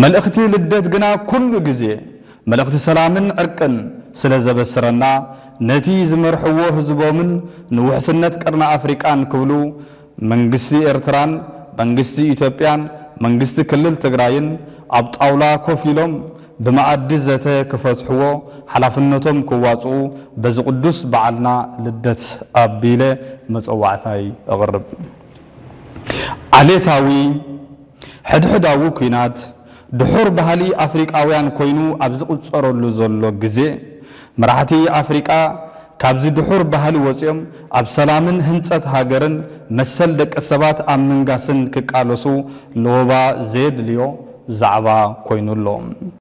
መልእኽቲ ልደት ግና ኩሉ ግዜ መልእኽቲ ሰላምን ዕርቅን ስለ ዘበስረና፣ ነቲ ዝመርሕዎ ህዝቦምን ንውሕስነት ቀርኒ ኣፍሪቃን ክብሉ መንግስቲ ኤርትራን መንግስቲ ኢትዮጵያን መንግስቲ ክልል ትግራይን ኣብ ጣውላ ኮፍ ኢሎም ብመኣዲ ዘተ ክፈትሕዎ ሓላፍነቶም ክዋፅኡ በዚ ቅዱስ በዓልና ልደት ኣቢለ መፀዋዕታይ እቕርብ። ዓሌታዊ ሕድሕዳዊ ኲናት ድሑር ባህሊ ኣፍሪቃውያን ኮይኑ ኣብ ዝቑጸረሉ ዘሎ ግዜ፣ መራሕቲ ኣፍሪቃ ካብዚ ድሑር ባህሊ ወጺኦም ኣብ ሰላምን ህንጸት ሃገርን መሰል ደቂ ሰባት ኣብ ምንጋስን ክቃለሱ ለወባ ዘየድልዮ ዛዕባ ኮይኑ ኣሎ።